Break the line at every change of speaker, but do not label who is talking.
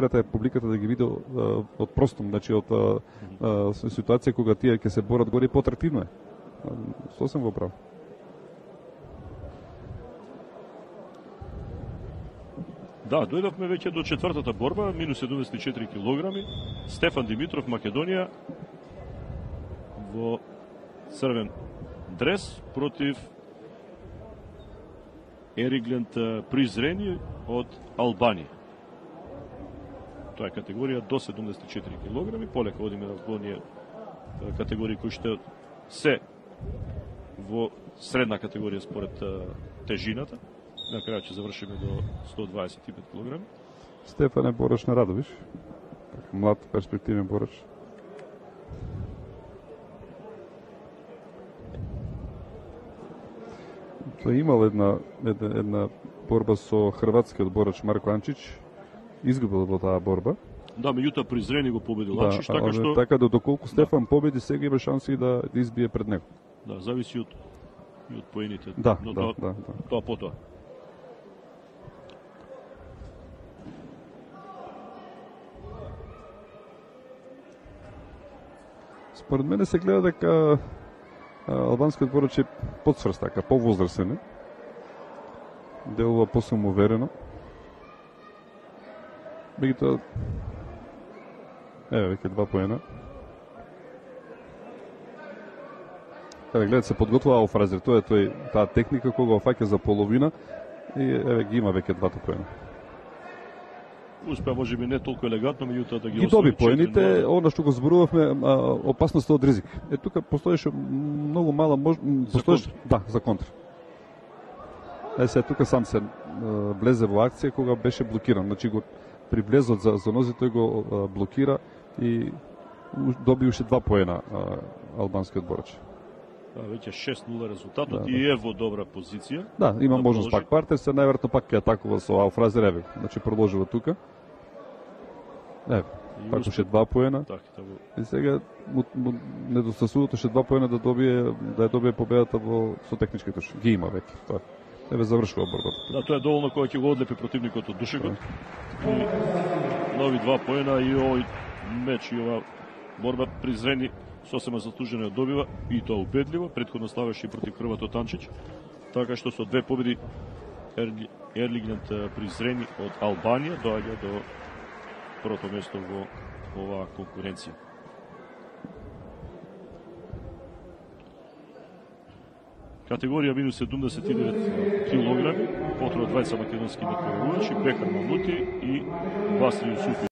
преферата е публиката да ги види од простом, значи од ситуација кога тие ќе се борат горе, поатрактивно е. Сосем во прав.
Да, дојдовме веќе до четвртата борба, минус 74 килограми. Стефан Димитров, Македонија, во црвен дрес против Ериглент Призрени од Албанија. Тоа е категорија до 74 килограми. Полека одиме во оние категории кои што се во средна категорија според тежината. На крај ќе завршиме до 125 килограми.
Стефан е борач на Радовиш. Млад, перспективен борач. Тој имал една борба со хрватскиот борач Марко Анчич. Изгубил во таа борба.
Да, меѓутоа Призрени го победил Анчич, така што
така да доколку Стефан победи, сега има шанси да избие пред него.
Да, зависи од поените.
Да,
но
да.
Тоа потоа.
Според мене се гледа дека албанскиот борач е подсврст, така, повозрасен. Делува посамоуверено. Меѓутоа, веќе 2 поена. Гледате, се подготвува Алфразер, тоа е таа техника кога фаќа за половина и ги има веќе 2 поена.
Успеа можеби не толку елегантно, меѓутоа да ги
доби поените, она што го зборувавме, опасноста од ризик. Тука постоеше многу мала за контр. Тука сам се влезе во акција кога беше блокиран. Значи го при влезот за нози тој го блокира и доби уште 2 поена албанскиот борач.
Веќе 6-0 резултатот и е во добра позиција.
Да, има можност пак партер, се најверојатно пак ќе атакува со Алфразер Еве. Значи продолжува тука. Пак уште 2 поена. И сега недостасувато уште 2 поена да ја добие победата со технички туш. Ги има веќе. Тоа. Завршува борбата.
Да, тоа е доволно кога ќе го одлепи противникот од душегот. И нови 2 поена и овој меч и ова борба Призрени сосема заслужено ја добива и тоа убедливо. Претходно ставаше и против Хрватот Анчич. Така што со 2 победи Ериглент Призрени од Албанија доаѓа до првото место во оваа конкуренција. Категорија минус 79 килограми, потроа двајца македонски надпреварувачи, Бехар Мамути и Васли Јусуфи.